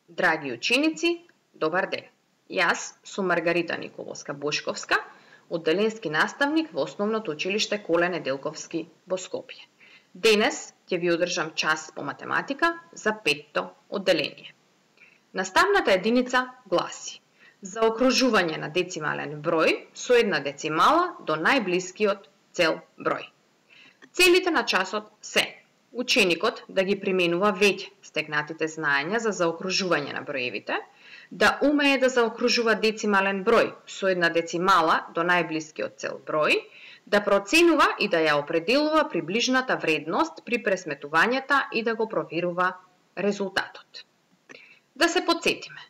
Драги ученици, добар ден. Јас сум Маргарита Николовска-Бошковска, одделенски наставник во Основното училиште Коле Неделковски во Скопје. Денес ќе ви одржам час по математика за 5-то одделение. Наставната единица гласи: заокружување на децимален број со една децимала до најблискиот цел број. Целите на часот се: ученикот да ги применува веќе стекнатите знаења за заокружување на броевите, да умее да заокружува децимален број со една децимала до најблискиот цел број, да проценува и да ја определува приближната вредност при пресметувањата и да го проверува резултатот. Да се потсетиме,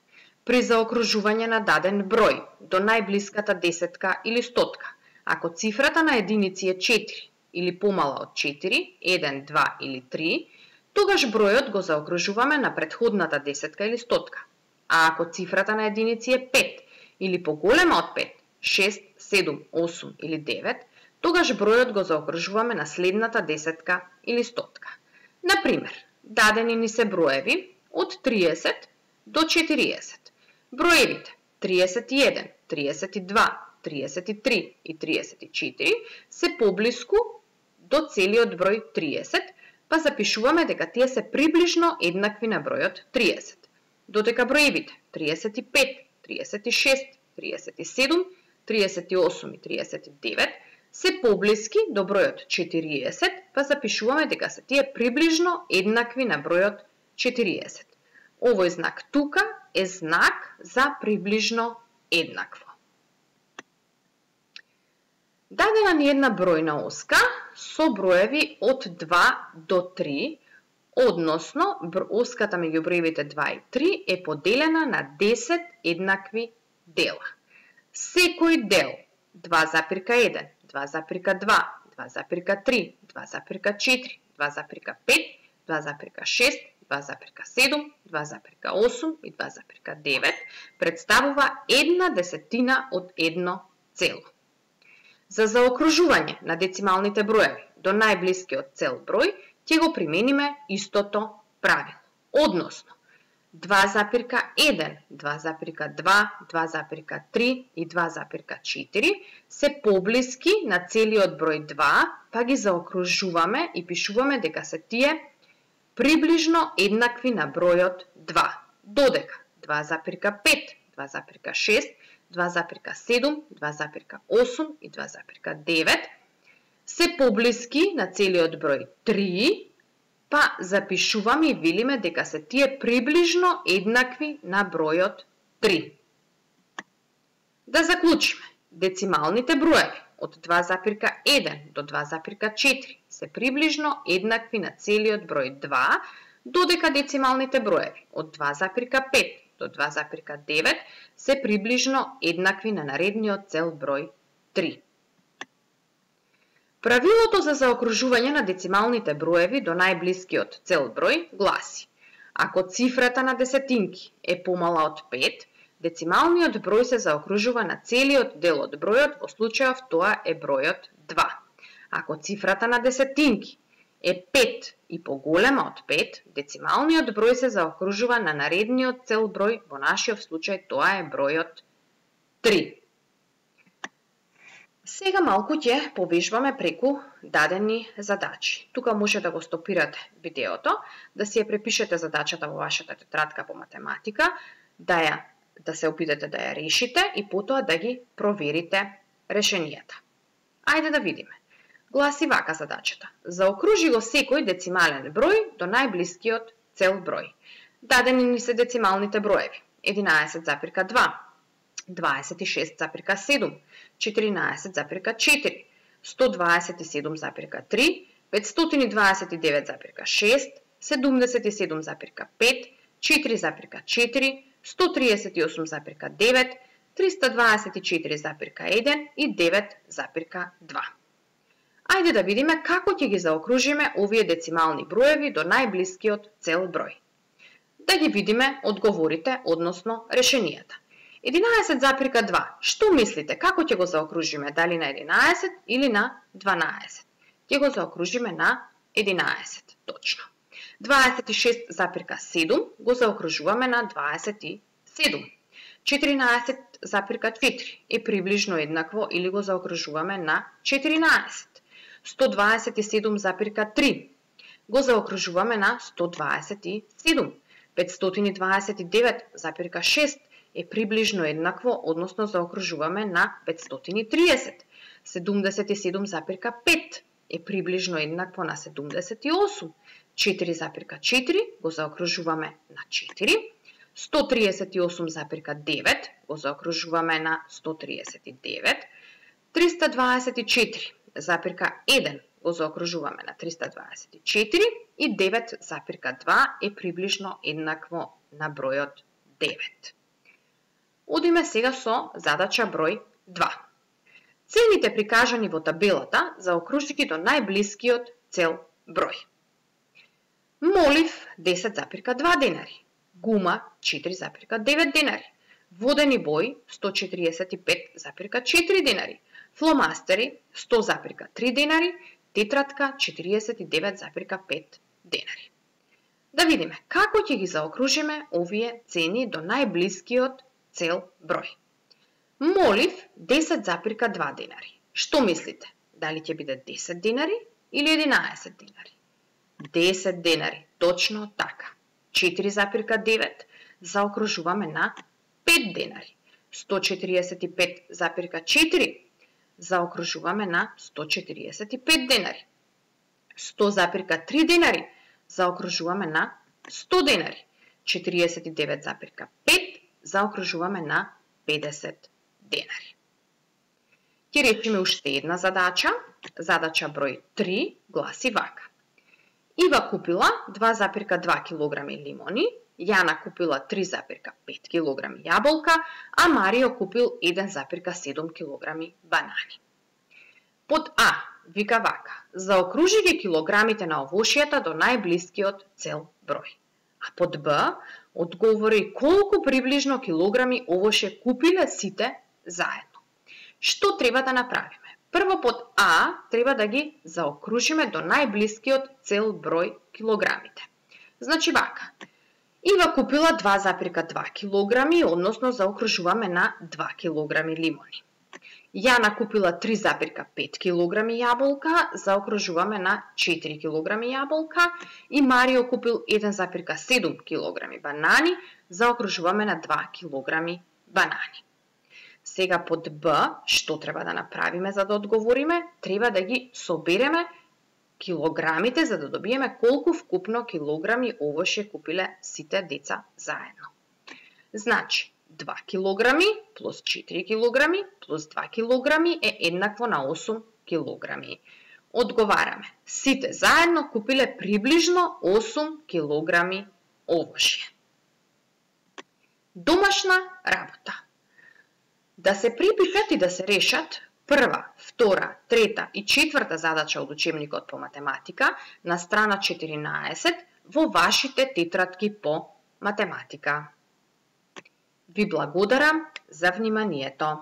при заокружување на даден број до најблиската десетка или стотка, ако цифрата на единици е 4 или помала од 4, 1, 2 или 3, тогаш бројот го заокружуваме на претходната десетка или стотка. А ако цифрата на единици е 5 или поголема од 5, 6, 7, 8 или 9, тогаш бројот го заокружуваме на следната десетка или стотка. Например, дадени ни се броеви од 30 до 40. Броевите 31, 32, 33 и 34 се поблиску до целиот број 30, па запишуваме дека тие се приближно еднакви на бројот 30. Додека броевите 35, 36, 37, 38 и 39 се поблиски до бројот 40, па запишуваме дека се тие приближно еднакви на бројот 40. Овој знак тука е знак за приближно еднакво. Дадена ни една бројна оска со броеви од 2 до 3, односно оската меѓу броевите 2 и 3 е поделена на 10 еднакви дела. Секој дел 2,1, 2,2, 2,3, 2,4, 2,5, 2,6, 2,7, 2,8 и 2,9 представува една десетина од едно цело. За заокружување на децималните броеви до најблискиот цел број ќе го примениме истото правило. Односно, 2,1, 2,2, 2,3 и 2,4 се поблиски на целиот број 2, па ги заокружуваме и пишуваме дека се тие приближно еднакви на бројот 2. Додека 2,5, 2,6, 2,7, 2,8 и 2,9 се поблиски на целиот број 3, па запишуваме и велиме дека се тие приближно еднакви на бројот 3. Да заклучиме, децималните броеви од 2,1 до 2,4 се приближно еднакви на целиот број 2, додека децималните броеви од 2,5 до 2,9 се приближно еднакви на наредниот цел број 3. Правилото за заокружување на децималните броеви до најблискиот цел број гласи: ако цифрата на десетинки е помала од 5, децималниот број се заокружува на целиот дел од бројот, во случајов тоа е бројот 2. Ако цифрата на десетинки е 5 и поголема од 5, децималниот број се заокружува на наредниот цел број, во нашиот случај тоа е бројот 3. Сега малку ќе повежбаме преку дадени задачи. Тука може да го стопирате видеото, да си ја препишете задачата во вашата тетрадка по математика, да се опитате да ја решите и потоа да ги проверите решенијата. Ајде да видиме. Гласи вака задачата: заокружи го секој децимален број до најблискиот цел број. Дадени ни се децималните броеви: 11,2, 26,7, 14,4, 127,3, 529,6, 77,5, 4,4, 138,9, 324,1 и 9,2. Ајде да видиме како ќе ги заокружиме овие децимални броеви до најблискиот цел број. Да ги видиме одговорите, односно решенијата. 11,2. Што мислите, како ќе го заокружиме? Дали на 11 или на 12? Ќе го заокружиме на 11, точно. 26,7 го заокружуваме на 27. 14,4 е приближно еднакво или го заокружуваме на 14. 127,3 го заокружуваме на 127. 529,6 е приближно еднакво, односно заокружуваме на 530. 77,5 е приближно еднакво на 78. 4,4 го заокружуваме на 4. 138,9 го заокружуваме на 139. 324,1 го заокружуваме на 324 и 9,2 е приближно еднакво на бројот 9. Одиме сега со задача број 2. Цените прикажани во табелата заокружи до најблискиот цел број. Молив 10,2 денари, гума 4,9 денари, водени бои 145,4 денари, фломастери 100,3 денари, тетратка 49,5 денари. Да видиме како ќе ги заокружиме овие цени до најблискиот цел број. Молив 10,2 денари. Што мислите? Дали ќе биде 10 денари или 11 денари? 10 денари, точно така. 4,9 заокружуваме на 5 денари. 145,4 заокружуваме на 145 денари. 100,3 денари заокружуваме на 100 денари. 49,5 заокружуваме на 50 денари. Ќе речеме уште една задача. Задача број 3 гласи вака. Ива купила 2,2 кг лимони, Јана купила 3,5 кг јаболка, а Марио купил 1,7 кг банани. Под А вика вака: заокружи ги килограмите на овошјата до најблискиот цел број. А под Б одговори колку приближно килограми овоше купиле сите заедно. Што треба да направиме? Прво под А треба да ги заокружиме до најблискиот цел број килограмите. Значи вака: Ива купила 2,2 килограми, односно заокружуваме на 2 килограми лимони. Јана купила 3,5 килограми јаболка, заокружуваме на 4 килограми јаболка, и Марио купил 1,7 килограми банани, заокружуваме на 2 килограми банани. Сега под Б, што треба да направиме за да одговориме? Треба да ги собереме килограмите за да добиеме колку вкупно килограми овоше купиле сите деца заедно. Значи, 2 килограми плюс 4 килограми плюс 2 килограми е еднакво на 8 килограми. Одговараме, сите заедно купиле приближно 8 килограми овошје. Домашна работа. Да се припишат и да се решат прва, втора, трета и четврта задача од учебникот по математика на страна 14 во вашите тетрадки по математика. Ви благодарам за вниманието.